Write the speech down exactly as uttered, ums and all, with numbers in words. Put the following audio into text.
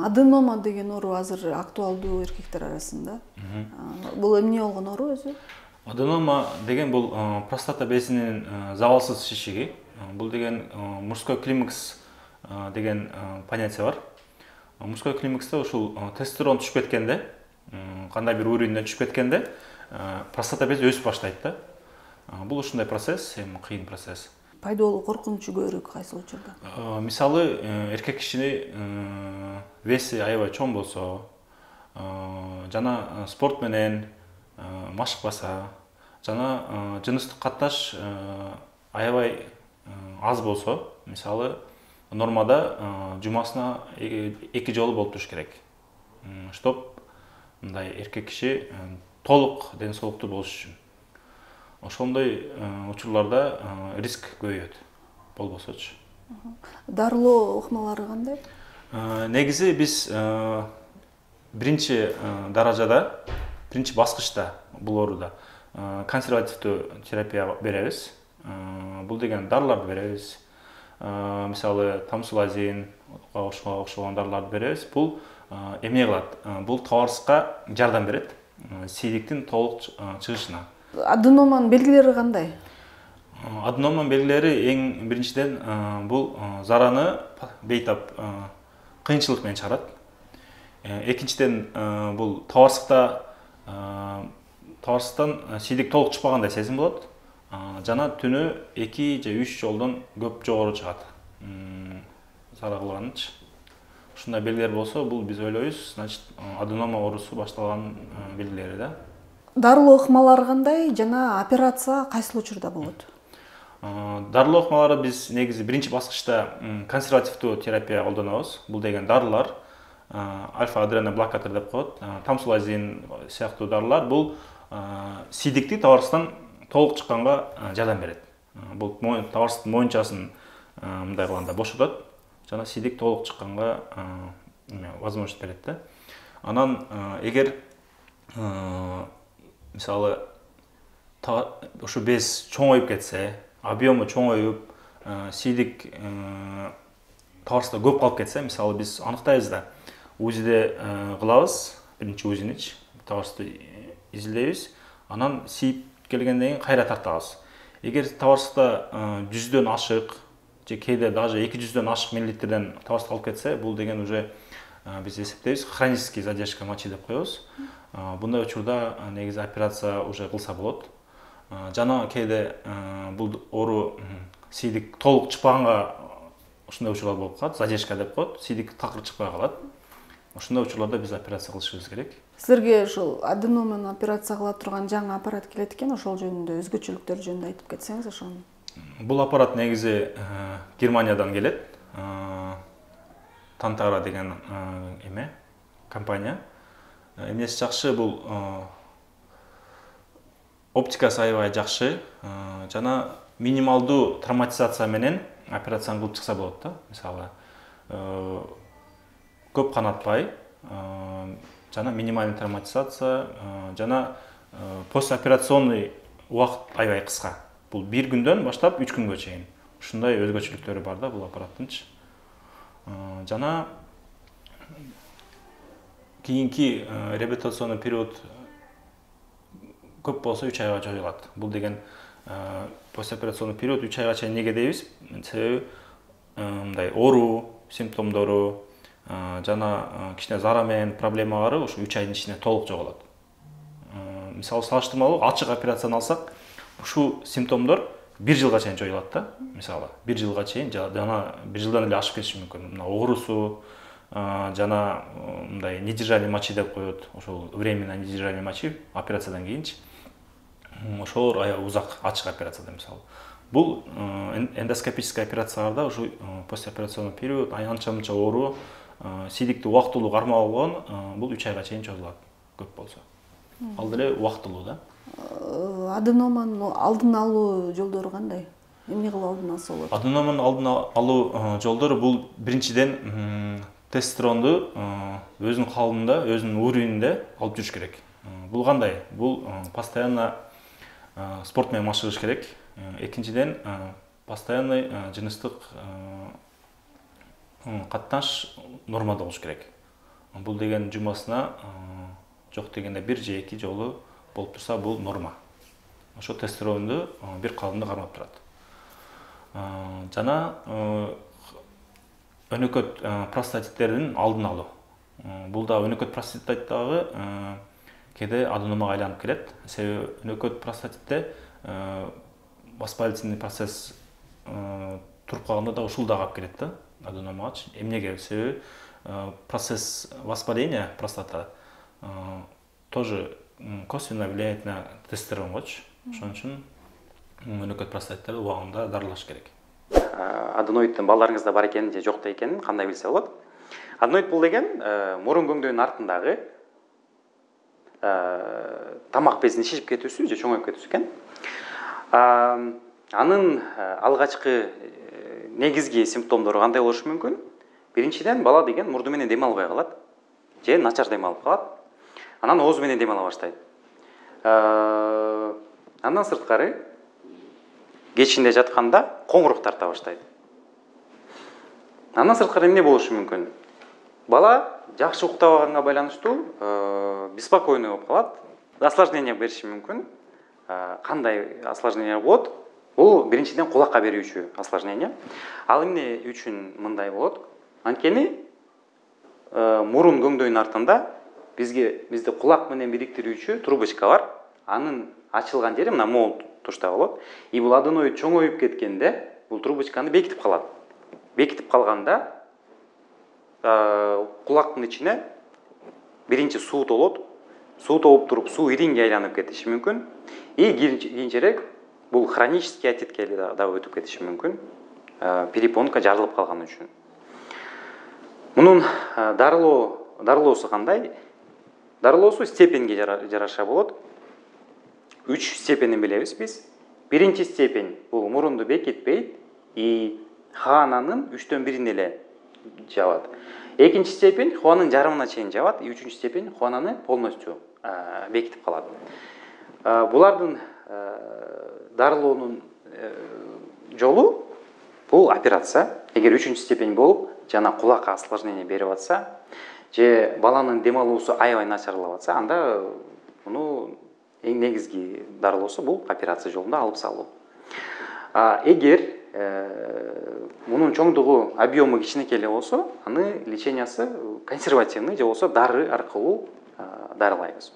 Аденома деген оору азыр актуалдуу эркектер арасында. Бул эмне болгон оору өзү? Аденома деген бул простата безинин забалсыз шишиги. Бул деген мужской климакс деген понятие бар. Мужской климакста ушул тестостерон түшүп кеткенде, кандай бир уровеньден түшүп кеткенде, простата бези өсүп баштайт да. Бул ушундай процесс, эми кыйын процесс. Пайда болуу коркунучу көбүрөөк кайсы учурда? Мисалы, эркек кишини веси аябай чоң болсо, жана спорт менен машыкпаса, жана жыныстык катташ аябай аз болсо, мисалы, нормада жумасына эки жолу болуп туруш керек. Чтоб мындай эркек киши толук ден соолуктуу болуш үчүн. Ошондой учурларда риск көбөйөт, болбосочу. Дарылоо ыкмалары кандай? Негизи биз биринчи даражада, биринчи баскычта бул ооруда консервативдүү терапия беребиз. Бул деген дарыларды беребиз. Мисалы, тамсулазин окшогон дарыларды беребиз. Бул эмне кылат? Бул табарсызга жардам берет, сийдиктин толук чыгышына. Аденоманын белгилери кандай? Аденоманын белгилери эң биринчиден бул зараны бейтап кыйынчылык менен чыгарат. Экинчиден бул табарсыкта табарсыктан сийдик толук чыкпагандай сезим болот. Жана түнү эки же үч жолдон көп жогору чыгат. Зара кылганычы. Ушундай белгилер болсо, бул биз ойлойбуз, значит, аденома оорусу башталган белгилери да. Дарылоо ыкмалары кандай жана операция кайсыл учурда болот? Дарылоо ыкмалары биз негизи биринчи баскычта консервативдүү терапия колдонобуз. Бул деген дарылар, альфа-адреноблокатор деп коет, тамсулазин сыяктуу дарылар бул сийдикти табарсыздан толук чыкканга жардам берет. Бул табарсыздын моюнчасын мындай кылганда бошотот жана сийдик толук чыкканга возможность берет да. Анан эгер мисалы ушу без чоңоюп кетсе, объему чоңоюп, сийдик табарсызда көп калып кетсе, мисалы биз аныктайбыз да, УЗИде кылабыз, биринчи УЗИничи, табарсызды изилдейбиз, анан сийип келгенден кийин кайра тартабыз. Эгер табарсызда жүздөн ашык, же кээде даже эки жүздөн ашык миллилитрден табарсыз калып кетсе, бул деген уже биз эсептейбиз, хронический задержка мочи деп коебуз. Bunday учурда негизи операция уже кылса болот. Жана кээде бул оору сийдик толук чыкпаганга ушундай учурлар болуп калат, задержка деп коет, сийдик такыр чыкпай калат. Ушундай учурларда биз операция кылышыбыз керек. Силерге ушул аденоманы операция кыла турган жаңы аппарат келет экен, ошол жөнүндө өзгөчөлүктөр жөнүндө айтып кетсеңиз ошону. Бул аппарат негизи Германиядан келет. Tantara деген эме компания. Эмнеси жакшы, бул оптикасы аябай жакшы, жана минималдуу травматизация менен операцияны кылып чыкса болот да. Мисалы, көп канатпай, жана минимальный травматизация, жана постоперационный убакыт аябай кыска. Бул бир күндөн баштап үч күнгө чейин. Ушундай өзгөчөлүктөрү бар да бул аппараттынчы. Жана кийинки реабилитационный период көп болсо үч айга жоюлат. Бул деген постоперационный период үч айга чейин неге дейбиз? Себеби мындай оору симптомдору жана кичине зара менен проблемалары ушу үч айдын ичинде толук жоголот. Мисалы салыштырмалуу ачык операцияны алсак, ушул симптомдор бир жылга чейин жоюлат да. Мисалы, бир жылга чейин жана бир жылдан эле ашып кетиши мүмкүн. Мына оорусу жана мындай недержание мочи деп коет, ошол временно недержание мочи операциядан кийинчи. Ошол аябай узак ачык операцияда мисалы. Бул эндоскопический операцияларда ушу постоперационный период, анча-мынча оору, сийдикти убактылуу кармап алган, бул үч айга чейин созулат көп болсо. Ал деле убактылуу да. Аденоманын алдын алуу жолдору кандай? Эмне кылып алдын алса болот? Аденоманын алдын алуу жолдору бул биринчиден тестостеронду өзүнүн калыбында, өзүнүн уровенинде алып жүрүш керек. Бул кандай? Бул постоянно спорт менен машыгыш керек. Экинчиден постоянный жыныстык катташ нормада болуш керек. бул деген жумасына жок дегенде бир же эки жолу болуп турса бул норма. Ошо тестостеронду бир калыбында кармап турат. Жана өнөкөт простатиттердин алдын алуу. Бул да өнөкөт простатит дагы кээде аденомага айланып келет. Себеби өнөкөт простатитте воспалительный процесс туруп калганда да ушул да алып келет да аденомагачы. Эмнеге? Себеби процесс воспаления простата тоже косвенно влияет на тестостеронгочу. Ошон үчүн өнөкөт простатиттерди убагында дарылаш керек. Аденоиддин балдарыңызда бар экенин же жок экенин кандай билсе болот? Аденоид бул деген мурун көңдөйүнүн артындагы тамак безинин шишип кетүүсү же чоңоюп кетүүсү экен. Анын алгачкы негизги симптомдору кандай болушу мүмкүн? Биринчиден, бала деген мурду менен дем албай калат, же начар дем алып калат. Анан оозу менен дем ала баштайт. Андан сырткары кечинде жатканда коңурук тарта баштайт. Андан сырткары эмне болушу мүмкүн? Бала жакшы уктабаганга байланыштуу беспокойный болуп калат, осложнение бериши мүмкүн. Кандай осложнение болот? Бул биринчиден кулакка берүүчү осложнение. Ал эмне үчүн мындай болот? Анткени мурун көңдөйүнүн артында бизге бизде кулак менен бириктирүүчү трубочка бар. Анын ачылган жери мына могул тушта болот. И бул аденоид чоңоюп кеткенде бул трубочканы бекитип калат. Бекитип калганда кулактын ичине биринчи суу толот. Суу толуп туруп, суу иринге айланып кетиши мүмкүн. И кийинчерээк бул хронический отитке да өтүп кетиши мүмкүн. Перепонка жарылып калган үчүн. Мунун дарылоо дарылоосу кандай? Дарылоосу степенге жараша болот. Үч степенин билебиз биз. Биринчи степень бул мурунду бекитпейт, и хаананын үчтөн бирин эле жабат. Экинчи степень хуанын жарымына чейин жабат, и үчүнчү степень хуананы полностью бекитип калат. Булардын дарылоонун жолу бул операция. Эгер үчүнчү степень болуп, жана кулакка осложнение берип атса, же баланын дем алуусу аябай начарлап атса, анда муну эң негизги дарылоосу бул операция жолунда алып салуу. Эгер мунун чоңдугу, объему кичинекей эле болсо, аны лечениясы консервативный же болсо дары аркылуу дарылайбыз.